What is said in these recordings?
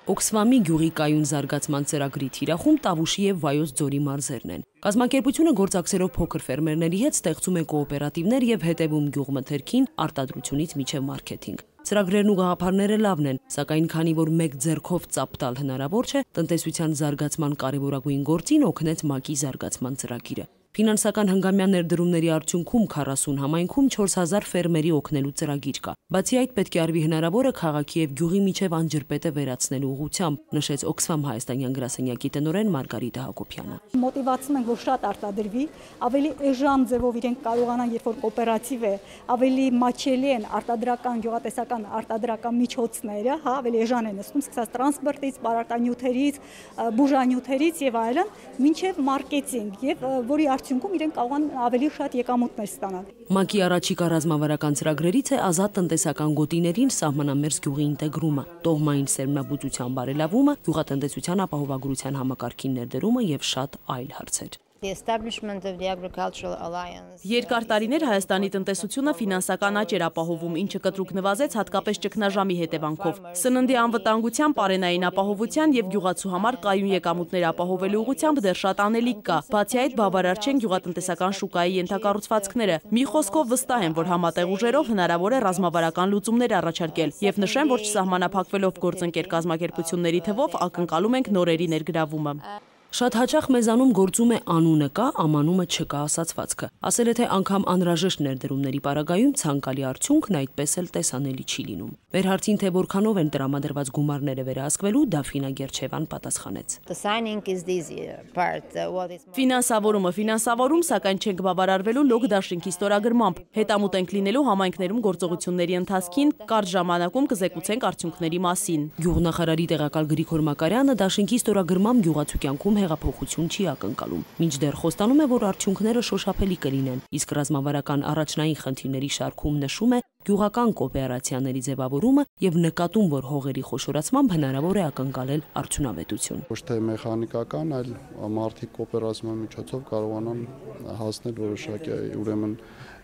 Օքսվամի գյուղի կայուն զարգացման ծրագրի թիրախում Տավուշի եւ Վայոց ձորի մարզերն են։ Կազմակերպությունը գործակցելով փոքր ֆերմերների հետ ստեղծում է կոոպերատիվներ եւ հետեւում գյուղմթերքին արտադրությունից մինչեւ մարքեթինգ։ Ծրագրերն ու գաղափարները լավն են, սակայն քանի որ մեկ ձեռքով ծափ տալ հնարավոր չէ, տնտեսության զարգացման կարևորագույն գործին օգնեց ՄԱԿ-ի զարգացման ծրագիրը։ Ֆինանսական հնգամյա ներդրումների արդյունքում 40 համայնքում 4000 ֆերմերի օգնելու ծրագիր կա։ Բացի այդ, պետք է արվի հնարավորը քաղաքի եւ գյուղի միջև անջրպետը վերացնելու ուղղությամբ, նշեց Օքսֆամ հայաստանյան գրասենյակի տնօրեն Մարգարիտա Հակոբյանը։ Մոտիվացնում ենք, որ շատ արտադրվի, ավելի էժան ձևով իրենք կարողանան, երբ որ կոոպերատիվ է, ավելի մատչելի են արտադրական, գյուղատնտեսական արտադրական միջոցները, ավելի էժան են նստում, սկսած տրանսպորտից, պարարտանյութերից, բուժանյութերից եւ այլն, մինչեւ մարքեթինգ եւ որի արդյունքում իրենք կարող են ավելի շատ եկամուտներ ստանալ։ ՄԱԿ-ի առաջիկա ռազմավարական ծրագրերից է ազատ տնտեսական գոտիներին սահմանամերձ գյուղի ինտեգրումը, տոհմային սերմնաբուծության բարելավումը, գյուղատնտեսության ապահովագրության համակարգին ներդրումը եւ շատ այլ հարցեր։ Երկար տարիներ Հայաստանի տնտեսությունը ֆինանսական աճ էր ապահովում, ինչը կտրուկ նվազեց հատկապես ճգնաժամի հետևանքով։ Սննդի անվտանգության, պարենային ապահովության եւ գյուղացու համար կայուն եկամուտներ ապահովելու ուղղությամբ դեռ շատ անելիք կա։ Բացի այդ, բավարար չեն գյուղատնտեսական շուկայի ենթակառուցվածքները։ Մի խոսքով վստահ եմ, որ համատեղ ուժերով հնարավոր է ռազմավարական լուծումներ առաջարկել եւ նշեմ, որ չսահմանափակվելով գործընկեր կազմակերպությունների թվով ակնկալում ենք նորերի ներգրավումը։ Շատ հաճախ մեզանում գործում է անունը կա, ամանումը չկա ասացվածքը։ Ասել է, թե անգամ անհրաժեշտ ներդրումների պարագայում ցանկալի արդյունքն այդպես էլ տեսանելի չի լինում։ Մեր հարցին, թե որքանով են տրամադրված գումարները վերահսկվելու, Դաֆինա Գերչևան պատասխանեց։ Ֆինանսավորում, սակայն չենք բավարարվելու լոկ դաշինքի ստորագրմամբ։ Հետամուտ ենք լինելու համայնքներում գործողությունների ընթացքին, կարճ ժամանակում կզեկուցենք արդյունքների մասին։ Գյուղնախարարի տեղակալ Գրիգոր Մակարյանը դաշինքի ստորագրմամբ գյուղացու կյանքում հեղափոխություն չի ակնկալում։ Մինչդեռ խոստանում է, որ արդյունքները շոշափելի կլինեն, իսկ ռազմավարական առաջնային խնդիրների շարքում նշում է գյուղական կոոպերացիաների ձևավորումը եւ նկատում, որ հողերի խոշորացմամբ հնարավոր է ակնկալել արդյունավետություն։ Ոչ թե մեխանիկական, այլ մարդիկ կոոպերացիայի միջոցով կարողանան հասնել որոշակի ուրեմն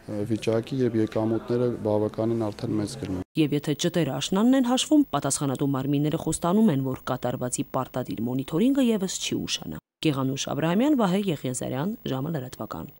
վիճակի եւ եկամուտները բավականին արդեն մեծ կլինեն։ Եվ եթե ճտերը աշնանն են հաշվում, պատասխանատու մարմինները խոստանում են, որ կատարվածի պարտադիր մոնիթորինգը եւս չի ուշանա։ Գեղանուշ Աբրահամյան, Վահե Եղիազարյան, ժամը լրատվական։